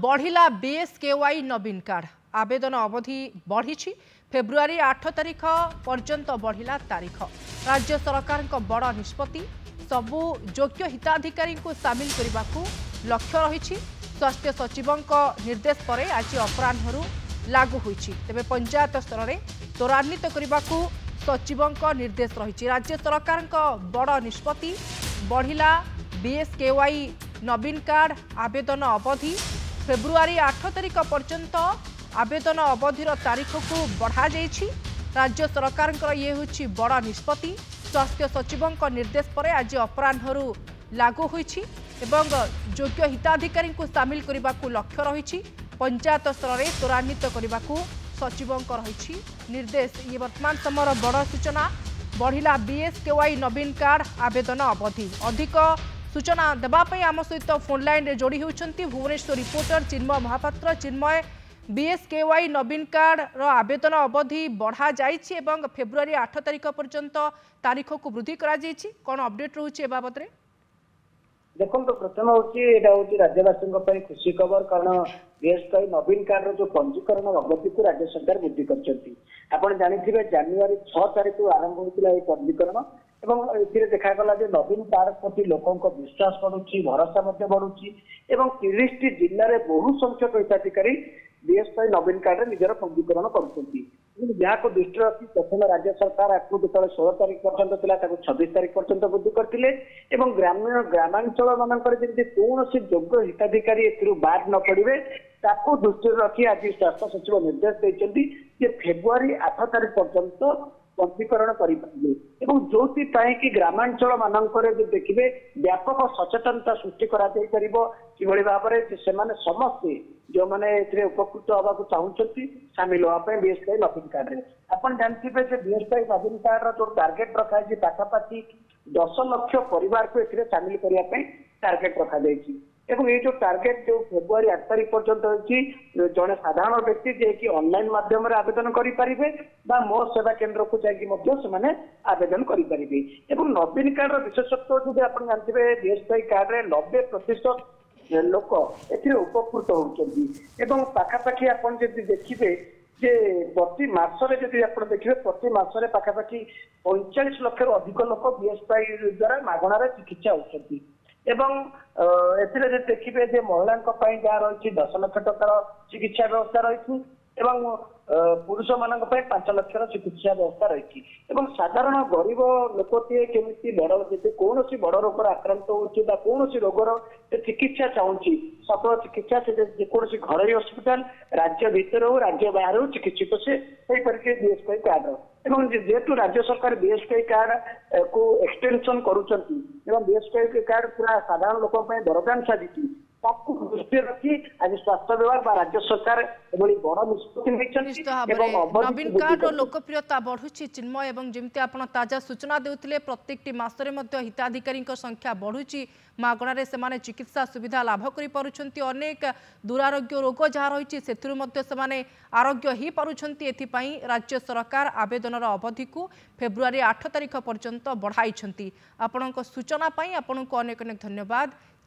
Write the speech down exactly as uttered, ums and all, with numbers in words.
ବଢ଼ିଲା ବିଏସ୍କେୱାଇ ନବୀନ କାର୍ଡ ଆବେଦନ ଅବଧି ବଢ଼ିଛି ଫେବୃଆରୀ ଆଠ ତାରିଖ ପର୍ଯ୍ୟନ୍ତ ବଢ଼ିଲା ତାରିଖ ରାଜ୍ୟ ସରକାରଙ୍କ ବଡ଼ ନିଷ୍ପତ୍ତି ସବୁ ଯୋଗ୍ୟ ହିତାଧିକାରୀଙ୍କୁ ସାମିଲ କରିବାକୁ ଲକ୍ଷ୍ୟ ରହିଛି ସ୍ୱାସ୍ଥ୍ୟ ସଚିବଙ୍କ ନିର୍ଦ୍ଦେଶ ପରେ ଆଜି ଅପରାହ୍ନରୁ ଲାଗୁ ହୋଇଛି ତେବେ ପଞ୍ଚାୟତ ସ୍ତରରେ ତ୍ୱରାନ୍ୱିତ କରିବାକୁ ସଚିବଙ୍କ ନିର୍ଦ୍ଦେଶ ରହିଛି ରାଜ୍ୟ ସରକାରଙ୍କ ବଡ଼ ନିଷ୍ପତ୍ତି ବଢ଼ିଲା ବିଏସ୍କେୱାଇ ନବୀନ କାର୍ଡ ଆବେଦନ ଅବଧି ଫେବୃଆରୀ ଆଠ ତାରିଖ ପର୍ଯ୍ୟନ୍ତ ଆବେଦନ ଅବଧିର ତାରିଖକୁ ବଢ଼ାଯାଇଛି ରାଜ୍ୟ ସରକାରଙ୍କର ଇଏ ହେଉଛି ବଡ଼ ନିଷ୍ପତ୍ତି ସ୍ୱାସ୍ଥ୍ୟ ସଚିବଙ୍କ ନିର୍ଦ୍ଦେଶ ପରେ ଆଜି ଅପରାହ୍ନରୁ ଲାଗୁ ହୋଇଛି ଏବଂ ଯୋଗ୍ୟ ହିତାଧିକାରୀଙ୍କୁ ସାମିଲ କରିବାକୁ ଲକ୍ଷ୍ୟ ରହିଛି ପଞ୍ଚାୟତ ସ୍ତରରେ ତ୍ୱରାନ୍ୱିତ କରିବାକୁ ସଚିବଙ୍କ ରହିଛି ନିର୍ଦ୍ଦେଶ ଇଏ ବର୍ତ୍ତମାନ ସମୟର ବଡ଼ ସୂଚନା ବଢ଼ିଲା ବିଏସ୍କେୱାଇ ନବୀନ କାର୍ଡ ଆବେଦନ ଅବଧି ଅଧିକ ସୂଚନା ଦେବା ପାଇଁ ଆମ ସହିତ ଫୋନ୍ ଲାଇନ୍ରେ ଯୋଡ଼ି ହେଉଛନ୍ତି ଭୁବନେଶ୍ୱର ରିପୋର୍ଟର ଚିନ୍ମୟ ମହାପାତ୍ର ଚିନ୍ମୟ ବିଏସ୍କେୱାଇ ନବୀନ କାର୍ଡର ଆବେଦନ ଅବଧି ବଢ଼ାଯାଇଛି ଏବଂ ଫେବୃଆରୀ ଆଠ ତାରିଖ ପର୍ଯ୍ୟନ୍ତ ତାରିଖକୁ ବୃଦ୍ଧି କରାଯାଇଛି କ'ଣ ଅପଡେଟ୍ ରହୁଛି ଏ ବାବଦରେ ଦେଖନ୍ତୁ ପ୍ରଥମ ହଉଛି ଏଇଟା ହଉଛି ରାଜ୍ୟବାସୀଙ୍କ ପାଇଁ ଖୁସି ଖବର କାରଣ ବିଏସ୍କେୱାଇ ନବୀନ କାର୍ଡର ଯୋଉ ପଞ୍ଜୀକରଣ ଅବଧିକୁ ରାଜ୍ୟ ସରକାର ବୃଦ୍ଧି କରିଛନ୍ତି ଆପଣ ଜାଣିଥିବେ ଜାନୁଆରୀ ଛଅ ତାରିଖରୁ ଆରମ୍ଭ ହୋଇଥିଲା ଏହି ପଞ୍ଜୀକରଣ ଏବଂ ଏଥିରେ ଦେଖାଗଲା ଯେ ନବୀନ କାର୍ଡ ପ୍ରତି ଲୋକଙ୍କ ବିଶ୍ୱାସ ବଢୁଛି ଭରସା ମଧ୍ୟ ବଢୁଛି ଏବଂ ତିରିଶଟି ଜିଲ୍ଲାରେ ବହୁ ସଂଖ୍ୟକ ହିତାଧିକାରୀ ବିଏସ୍କେୱାଇ ନବୀନ କାର୍ଡରେ ନିଜର ପଞ୍ଜୀକରଣ କରୁଛନ୍ତି କିନ୍ତୁ ଯାହାକୁ ଦୃଷ୍ଟିରେ ରଖି ପ୍ରଥମେ ରାଜ୍ୟ ସରକାର ଆକୁ ଯେତେବେଳେ ଷୋହଳ ତାରିଖ ପର୍ଯ୍ୟନ୍ତ ଥିଲା ତାକୁ ଛବିଶ ତାରିଖ ପର୍ଯ୍ୟନ୍ତ ବୃଦ୍ଧି କରିଥିଲେ ଏବଂ ଗ୍ରାମୀଣ ଗ୍ରାମାଞ୍ଚଳ ମାନଙ୍କରେ ଯେମିତି କୌଣସି ଯୋଗ୍ୟ ହିତାଧିକାରୀ ଏଥିରୁ ବାଦ ନ ପଡିବେ ତାକୁ ଦୃଷ୍ଟିରେ ରଖି ଆଜି ସ୍ୱାସ୍ଥ୍ୟ ସଚିବ ନିର୍ଦ୍ଦେଶ ଦେଇଛନ୍ତି ଯେ ଫେବୃଆରୀ ଆଠ ତାରିଖ ପର୍ଯ୍ୟନ୍ତ ପଞ୍ଜୀକରଣ କରିପାରିବେ ଏବଂ ଯୋଉଥିପାଇଁ କି ଗ୍ରାମାଞ୍ଚଳ ମାନଙ୍କରେ ଯଦି ଦେଖିବେ ବ୍ୟାପକ ସଚେତନତା ସୃଷ୍ଟି କରାଯାଇପାରିବ କିଭଳି ଭାବରେ ଯେ ସେମାନେ ସମସ୍ତେ ଯେଉଁମାନେ ଏଥିରେ ଉପକୃତ ହେବାକୁ ଚାହୁଁଛନ୍ତି ସାମିଲ ହେବା ପାଇଁ ବିଏସ୍କେୱାଇ ନବୀନ କାର୍ଡରେ ଆପଣ ଜାଣିଥିବେ ଯେ ବିଏସ୍କେୱାଇ ନବୀନ କାର୍ଡର ଯୋଉ ଟାର୍ଗେଟ ରଖାଯାଇଛି ପାଖାପାଖି ଦଶ ଲକ୍ଷ ପରିବାରକୁ ଏଥିରେ ସାମିଲ କରିବା ପାଇଁ ଟାର୍ଗେଟ ରଖାଯାଇଛି ଏବଂ ଏଇ ଯୋଉ ଟାର୍ଗେଟ ଯୋଉ ଫେବୃଆରୀ ଆଠ ତାରିଖ ପର୍ଯ୍ୟନ୍ତ ହେଇଛି ଜଣେ ସାଧାରଣ ବ୍ୟକ୍ତି ଯିଏକି ଅନଲାଇନ ମାଧ୍ୟମରେ ଆବେଦନ କରିପାରିବେ ବା ମୋ ସେବା କେନ୍ଦ୍ରକୁ ଯାଇକି ମଧ୍ୟ ସେମାନେ ଆବେଦନ କରିପାରିବେ ଏବଂ ନବୀନ କାର୍ଡର ବିଶେଷତ୍ୱ ଯଦି ଆପଣ ଜାଣିଥିବେ ବିଏସ୍କେୱାଇ କାର୍ଡରେ ନବେ ପ୍ରତିଶତ ଲୋକ ଏଥିରେ ଉପକୃତ ହଉଛନ୍ତି ଏବଂ ପାଖାପାଖି ଆପଣ ଯଦି ଦେଖିବେ ଯେ ପ୍ରତି ମାସରେ ଯଦି ଆପଣ ଦେଖିବେ ପ୍ରତି ମାସରେ ପାଖାପାଖି ପଇଁଚାଳିଶ ଲକ୍ଷରୁ ଅଧିକ ଲୋକ ବିଏସ୍କେୱାଇ ଦ୍ୱାରା ମାଗଣାରେ ଚିକିତ୍ସା ହଉଛନ୍ତି ଏବଂ ଅ, ଏଥିରେ ଯଦି ଦେଖିବେ ଯେ ମହିଳାଙ୍କ ପାଇଁ ଯାହା ରହିଛି ଦଶ ଲକ୍ଷ ଟଙ୍କାର ଚିକିତ୍ସା ବ୍ୟବସ୍ଥା ରହିଛି ଏବଂ ଅ, ପୁରୁଷମାନଙ୍କ ପାଇଁ ପାଞ୍ଚ ଲକ୍ଷର ଚିକିତ୍ସା ବ୍ୟବସ୍ଥା ରହିଛି ଏବଂ ସାଧାରଣ ଗରିବ ଲୋକଟିଏ କେମିତି ବଡ ଯଦି କୌଣସି ବଡ ରୋଗରେ ଆକ୍ରାନ୍ତ ହଉଛି ବା କୌଣସି ରୋଗର ସେ ଚିକିତ୍ସା ଚାହୁଁଛି ସଫଳ ଚିକିତ୍ସା ସେ ଯେକୌଣସି ଘରୋଇ ହସ୍ପିଟାଲ ରାଜ୍ୟ ଭିତରେ ହଉ ରାଜ୍ୟ ବାହାରେ ହଉ ଚିକିତ୍ସିତ ସେ ହେଇପାରିବେ ବିଏସ୍କେୱାଇ କାର୍ଡର ଏବଂ ଯେ- ଯେହେତୁ ରାଜ୍ୟ ସରକାର ବିଏସ୍କେୱାଇ କାର୍ଡ କୁ ଏକ୍ସଟେନସନ କରୁଛନ୍ତି ଏବଂ ବିଏସ୍କେୱାଇ କାର୍ଡ ପୁରା ସାଧାରଣ ଲୋକଙ୍କ ପାଇଁ ବରଦାନ ସାଜିଛି ତାକୁ ଦୃଷ୍ଟିରେ ରଖି ଆଜି ସ୍ୱାସ୍ଥ୍ୟ ବିଭାଗ ବା ରାଜ୍ୟ ସରକାର ଏଭଳି ବଡ ନିଷ୍ପତ୍ତି ନେଇଛନ୍ତି ନିଶ୍ଚିତ ଭାବରେ ଏବଂ ଅବଧିକୁ ନବୀନ ବୃଦ୍ଧି କାର୍ଡର କରିଛନ୍ତି। ଲୋକପ୍ରିୟତା ବଢୁଛି ଚିନ୍ମୟ ଏବଂ ଯେମିତି ଆପଣ ତାଜା ସୂଚନା ଦେଉଥିଲେ ପ୍ରତ୍ୟେକଟି ମାସରେ ମଧ୍ୟ ହିତାଧିକାରୀଙ୍କ ସଂଖ୍ୟା ବଢୁଛି ମାଗଣାରେ ସେମାନେ ଚିକିତ୍ସା ସୁବିଧା ଲାଭ କରିପାରୁଛନ୍ତି ଅନେକ ଦୁରାରୋଗ୍ୟ ରୋଗ ଯାହା ରହିଛି ସେଥିରୁ ମଧ୍ୟ ସେମାନେ ଆରୋଗ୍ୟ ହୋଇପାରୁଛନ୍ତି ଏଥିପାଇଁ ରାଜ୍ୟ ସରକାର ଆବେଦନର ଅବଧିକୁ ଫେବୃଆରୀ ଆଠ ତାରିଖ ପର୍ଯ୍ୟନ୍ତ ବଢ଼ାଇଛନ୍ତି ଆପଣଙ୍କ ସୂଚନା ପାଇଁ ଆପଣଙ୍କୁ ଅନେକ ଅନେକ ଧନ୍ୟବାଦ